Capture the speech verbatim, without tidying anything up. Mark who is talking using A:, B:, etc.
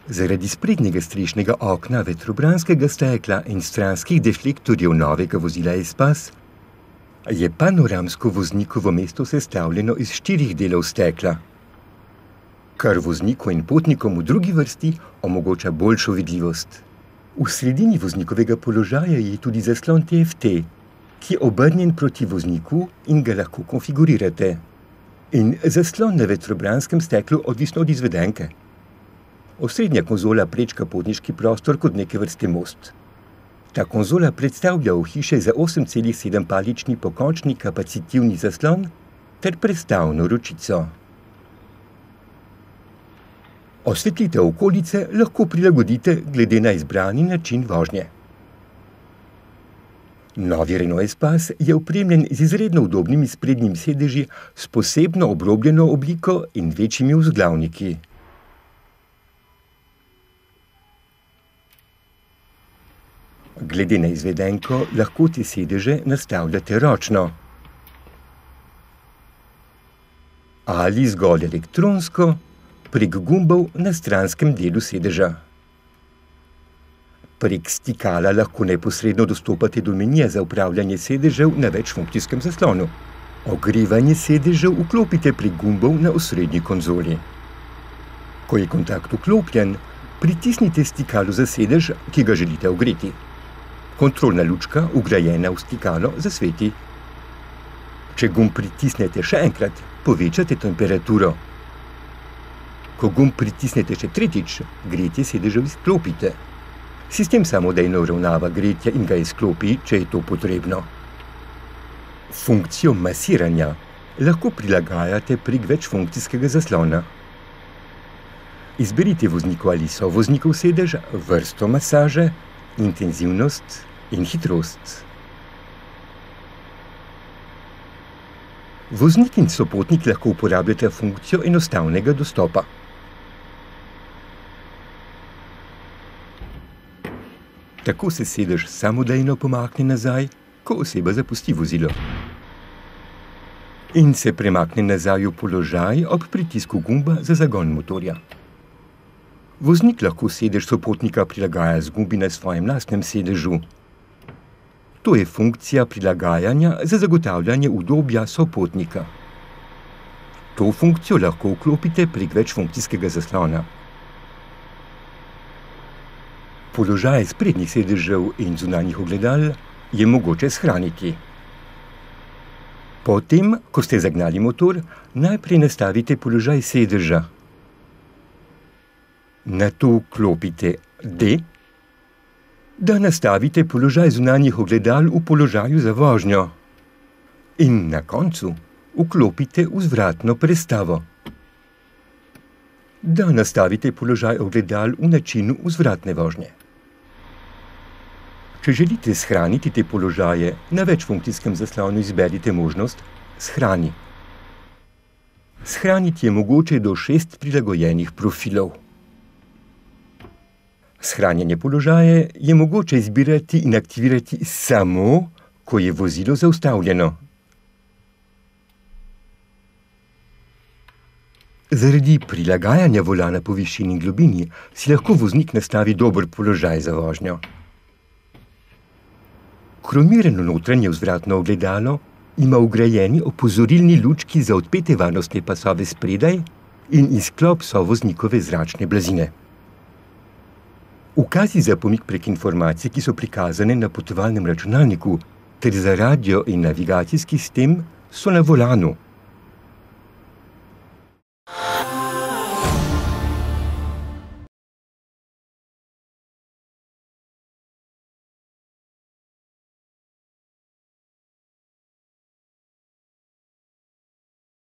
A: Zaradi sprednjega strešnega okna, vetrobranskega stekla in stranskih deflektorjev novega vozila Espace je panoramsko voznikovo mesto sestavljeno iz štirih delov stekla, kar vozniku in potnikom v drugi vrsti omogoča boljšo vidljivost. V sredini voznikovega položaja je tudi zaslon T F T, ki je obrnjen proti vozniku in ga lahko konfigurirate. In zaslon na vetrobranskem steklu odvisno od izvedenke. Osrednja konzola prečka potniški prostor kot neke vrste most. Ta konzola predstavlja ohišje za osem celih sedem palični pokončni kapacitivni zaslon ter prestavno ročico. Osvetlitev okolice lahko prilagodite glede na izbrani način vožnje. Novi Renault Espace je opremljen z izredno udobnimi sprednjimi sedeži s posebno obrobljeno obliko in večjimi vzglavniki. Glede na izvedenko lahko te sedeže nastavljate ročno ali zgolj elektronsko prek gumbov na stranskem delu sedeža. Prek stikala lahko neposredno dostopate do menija za upravljanje sedežev na večfunkcijskem zaslonu. Ogrevanje sedežev vklopite prek gumbov na osrednji konzoli. Ko je kontakt vklopljen, pritisnite stikalo za sedež, ki ga želite ogreti. Kontrolna lučka, vgrajena v stikalo, zasveti. Če gumb pritisnete še enkrat, povečate temperaturo. Ko gumb pritisnete še tretjič, gretje sedežev izklopite. Sistem samodejno uravnava gretje in ga izklopi, če je to potrebno. Funkcijo masiranja lahko prilagajate prek večfunkcijskega zaslona. Izberite vozniku ali sovoznikov sedež, vrsto masaže, intenzivnost in hitrost. Voznik in sopotnik lahko uporabljata funkcijo enostavnega dostopa. Tako se sedež samodejno pomakne nazaj, ko oseba zapusti vozilo. In se premakne nazaj v položaj ob pritisku gumba za zagon motorja. Voznik lahko sedež sopotnika prilagaja z gumbi na svojem lastnem sedežu. To je funkcija prilagajanja za zagotavljanje udobja sopotnika. To funkcijo lahko vklopite prek večfunkcijskega zaslona. Položaj sprednjih sedežev in zunanjih ogledal je mogoče shraniti. Potem, ko ste zagnali motor, najprej nastavite položaj sedeža. Nato vklopite D, da nastavite položaj zunanjih ogledal v položaju za vožnjo. In na koncu vklopite vzvratno prestavo, da nastavite položaj ogledal v načinu vzvratne vožnje. Če želite shraniti te položaje, na večfunkcijskem zaslonu izberite možnost Shrani. Shraniti je mogoče do šest prilagojenih profilov. Shranjene položaje je mogoče izbirati in aktivirati samo, ko je vozilo zaustavljeno. Zaradi prilagajanja volana po višini in globini si lahko voznik nastavi dober položaj za vožnjo. Kromirano notranje vzvratno ogledalo ima vgrajeni opozorilni lučki za odpete varnostne pasove spredaj in izklop sovoznikove zračne blazine. Ukazi za pomik prek informacij, ki so prikazane na potovalnem računalniku, ter za radio in navigacijski sistem so na volanu.